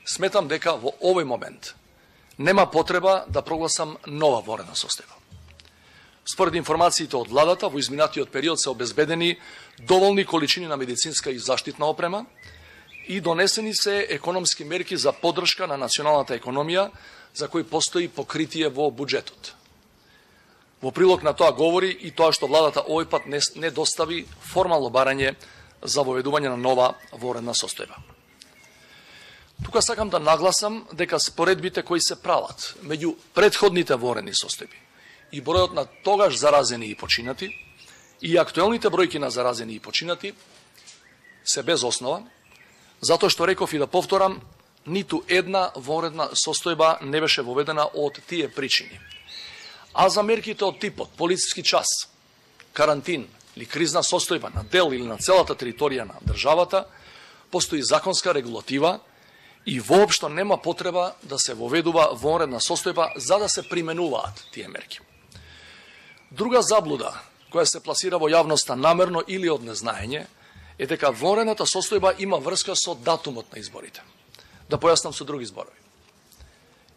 Сметам дека во овој момент нема потреба да прогласам нова воредна состојба. Според информациите од владата, во изминатиот период се обезбедени доволни количини на медицинска и заштитна опрема и донесени се економски мерки за поддршка на националната економија, за кои постои покритие во буџетот. Во прилог на тоа говори и тоа што владата овој пат не достави формално барање за воведување на нова воредна состојба. Тука сакам да нагласам дека споредбите кои се прават меѓу претходните воредни состојби и бројот на тогаш заразени и починати и актуелните бројки на заразени и починати се без основа, затоа што реков и да повторам, ниту една воредна состојба не беше воведена од тие причини. А за мерките од типот полициски час, карантин или кризна состојба на дел или на целата територија на државата, постои законска регулатива и воопшто нема потреба да се воведува воредна состојба за да се применуваат тие мерки. Друга заблуда која се пласира во јавноста намерно или од незнаење е дека воредната состојба има врска со датумот на изборите. Да појаснам со други зборови.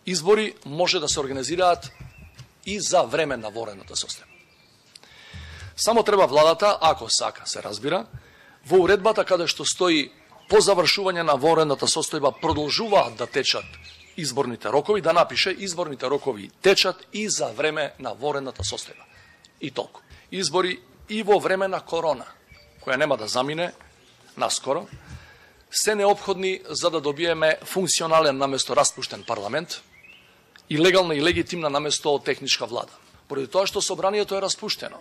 Избори може да се организираат и за време на воредната состојба. Само треба владата, ако сака, се разбира, во уредбата каде што стои по завршување на воредната состојба продолжуваат да течат изборните рокови, да напише изборните рокови течат и за време на воредната состојба. И толку. Избори и во време на корона, која нема да замине наскоро, се неопходни за да добиеме функционален наместо распуштен парламент и легална и легитимна наместо техничка влада. Поради тоа што собранието е распуштено,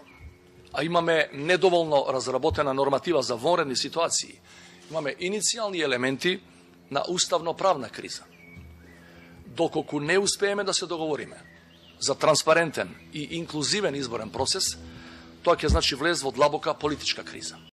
а имаме недоволно разработена норматива за воредни ситуации, имаме иницијални елементи на уставно-правна криза. Доколку не успееме да се договориме за транспарентен и инклузивен изборен процес, тоа ќе значи влез во длабока политичка криза.